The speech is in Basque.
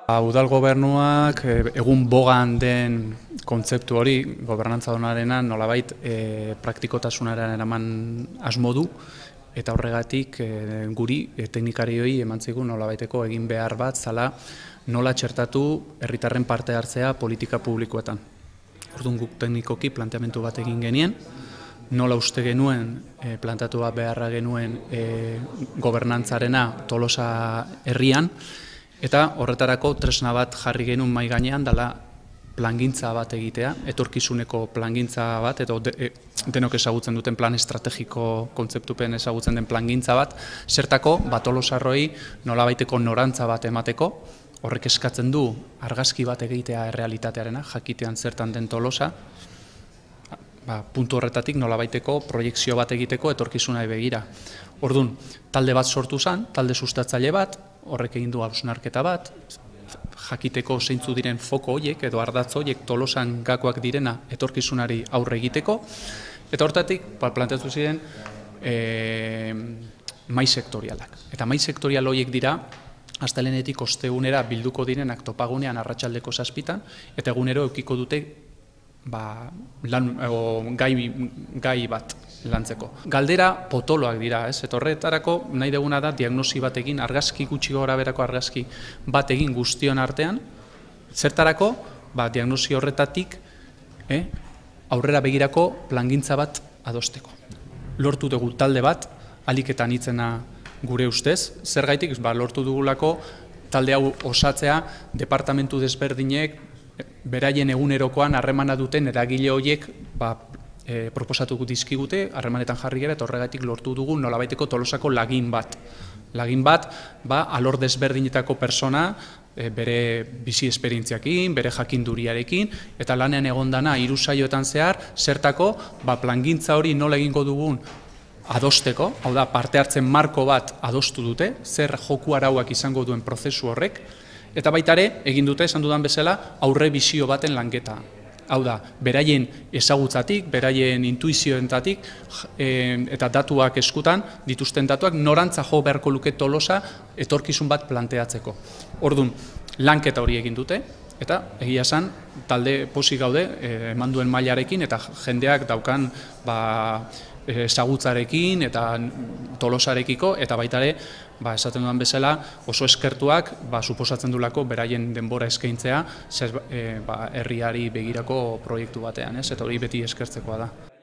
Udal gobernuak egun bogan den kontzeptu hori, gobernantza onarena nolabait praktikotasunaren eraman asmo du, eta horregatik guri teknikarioi eman zigun nolabaiteko egin behar bat zala nola txertatu herritarren parte hartzea politika publikoetan. Orduan guk teknikoki planteamendu bat egin genien, nola uste genuen, plantatu bat beharra genuen gobernantzarena Tolosa herrian, eta horretarako tresna bat jarri genuen mahai gainean dela plangintza bat egitea, etorkizuneko plangintza bat, edo denok ezagutzen duten plan estrategiko kontzeptupen ezagutzen den plangintza bat, zertako Tolosarroi nolabaiteko norantza bat emateko, horrek eskatzen du argazki bat egitea errealitatearena, jakitean zertan den Tolosa, puntu horretatik nolabaiteko proiekzio bat egiteko etorkizunari begira. Orduan, talde bat sortu zen, talde sustatzaile bat, horrek egin du hausnarketa bat, jakiteko zeintzu diren foko horiek edo ardatz horiek Tolosan gakoak direna etorkizunari aurre egiteko, eta hortatik planteatu ziren mahai sektorialak. Eta mahai sektorial horiek dira, astelehenetik ostegunera bilduko direnak topagunean arratsaldeko 7:00, eta egunero edukiko dute gai bat lantzeko. Galdera potoloak dira, eta horretarako nahi duguna da diagnosi bat egin, argazki gutxi goraberako argazki bat egin guztion artean, zertarako diagnosi horretatik aurrera begirako plangintza bat adosteko. Lortu dugu talde bat, ahalik eta anitzena gure ustez, zergaitik lortu dugulako talde hau osatzea departamentu desberdinek beraien egunerokoan harremana duten eragile horiek proposatuko dizkigute, harremanetan jarri gara, eta horregatik lortu dugu nolabaiteko Tolosako lagin bat. Lagin bat, alor desberdinetako persona, bere bizi esperientziakin, bere jakinduriarekin, eta lanean egondana 3 saioetan zehar, zertako plangintza hori nola egingo dugun adosteko, hau da, parte hartzen marko bat adostu dute, zer joku arauak izango duen prozesu horrek, eta baita ere, egin dute, esan dudan bezala, aurre bizio baten lanketa. Hau da, beraien ezagutzatik, beraien intuizioentatik, eta datuak eskutan, dituzten datuak, norantza jo beharko luke Tolosa etorkizun bat planteatzeko. Orduan, lanketa hori egin dute, eta egia esan, talde pozik gaude, eman duen mailarekin, eta jendeak daukan ezagutzarekin eta Tolosarekiko, eta baita ere, esaten dudan bezala, oso eskertuak, suposatzen dulako beraien denbora eskaintzea herriari begirako proiektu batean, eta hori beti eskertzekoa da.